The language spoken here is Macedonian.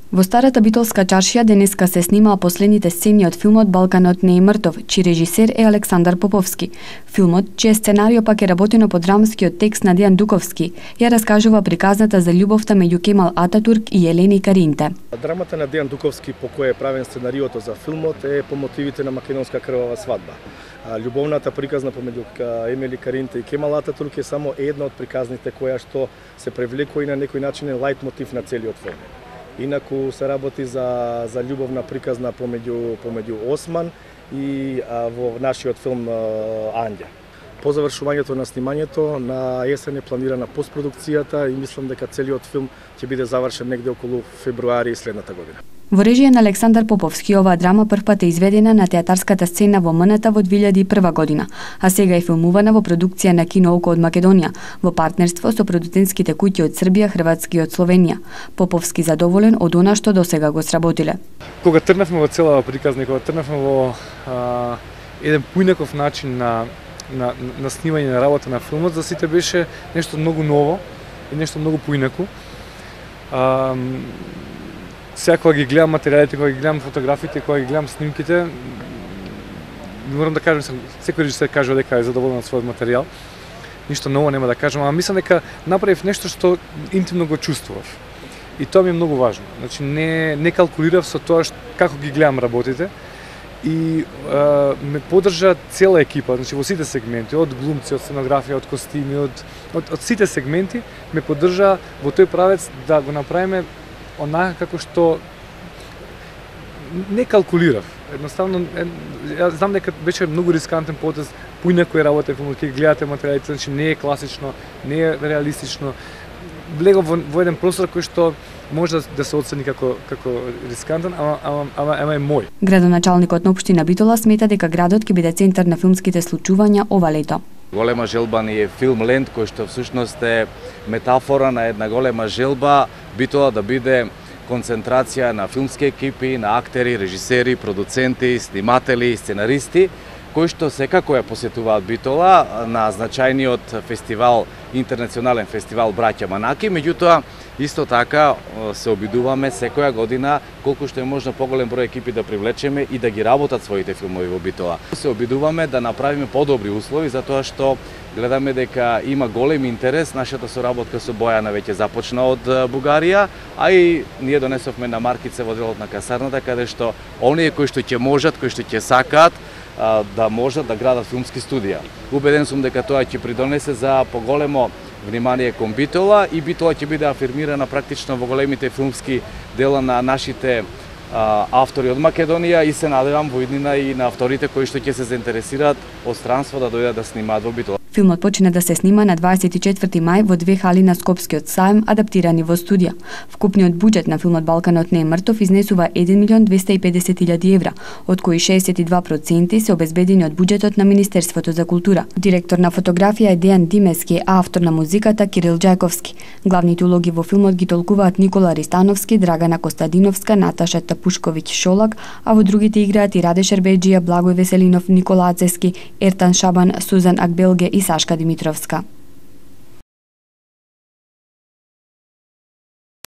Во старата битолска чаршија денеска се снимаа последните сцени од филмот Балканот не е мртов, чиј режисер е Александар Поповски. Филмот, чиј сценарио пак е работено по драмскиот текст на Дејан Дуковски, ја раскажува приказната за љубовта меѓу Кемал Ататурк и Елени Каринте. Драмата на Дејан Дуковски по која е правен сценариото за филмот е по мотивите на македонска крвава свадба. Љубовната приказна помеѓу Емели Каринте и Кемал Ататурк е само една од приказните која што се привлекува и на некој начин е лајт мотив на целиот филм. Инаку се работи за љубовна приказна помеѓу Осман и во нашиот филм Андја. По завршувањето на снимањето на есен е планирана постпродукцијата и мислам дека целиот филм ќе биде завршен негде околу февруари следната година. Во режија на Александар Поповски, оваа драма првпат е изведена на театарската сцена во МНТ во 2001 година, а сега е филмувана во продукција на Кино Око од Македонија, во партнерство со продуцентските куќи од Србија, Хрватска и од Словенија. Поповски задоволен од она што досега го сработиле. Кога тргнавме во целава приказна, кога тргнавме во еден поинаков начин на снимање на работа на филмот, за сите беше нешто многу ново и нешто многу поинако. Сега кога ги гледам материјалите, кога ги гледам фотографиите, кога ги гледам снимките, морам да кажам, секој режисер кажува дека е задоволен од својот материјал. Ништо ново нема да кажам, ама мислам дека направив нешто што интимно го чувствував. И тоа ми е многу важно. Значи не калкулирав со тоа како ги гледам работите и ме поддржа цела екипа, значи во сите сегменти, од глумци, од сценографија, од костими, од сите сегменти ме поддржа во тој правец да го направиме онака како што не калкулирав. Едноставно, ја знам дека беше многу рискантен потез, поинако е работа, ќе гледате материјалите, значи не е класично, не е реалистично. Влегов во еден простор кој што може да се оцени како рискантен, ама е мој. Градоначалникот на општина Битола смета дека градот ќе биде центар на филмските случувања ова лето. Голема желба ни е Филмленд, кој што всушност е метафора на една голема желба Битола да биде концентрација на филмски екипи, на актери, режисери, продуценти, сниматели, сценаристи, кои што секако ја посетуваат Битола на значајниот фестивал, интернационален фестивал Браќа Манаки, меѓутоа исто така се обидуваме секоја година колку што е можно поголем број екипи да привлечеме и да ги работат своите филмови во Битола. Се обидуваме да направиме подобри услови затоа што гледаме дека има голем интерес, нашата соработка со Бојана веќе започна од Бугарија, а и ние донесовме на маркице во делот на касарната каде што оние кои што ќе можат, кои што ќе сакаат да можат да градат филмски студија. Убеден сум дека тоа ќе придонесе за поголемо внимание кон Битола и Битола ќе биде афирмирана практично во големите филмски дела на нашите автори од Македонија и се надевам во иднина и на авторите кои што ќе се заинтересираат од странство да дојдат да снимаат во Битола. Филмот почина да се снима на 24 мај во две хали на Скопскиот саем, адаптирани во студија. Вкупниот буџет на филмот Балканот не е мртов изнесува 1.250.000 евра, од кои 62% се обезбедени од буџетот на Министерството за култура. Директор на фотографија е Дејан Димески, а автор на музиката Кирил Џајковски. Главните улоги во филмот ги толкуваат Никола Ристановски, Драгана Костадиновска, Наташа Тапушковиќ Шолак, а во другите играат и Раде Шербеџија, Благој Веселинов, Никола Ацески, Ертан Шабан, Сузан Акбелге и Сашка Димитровска.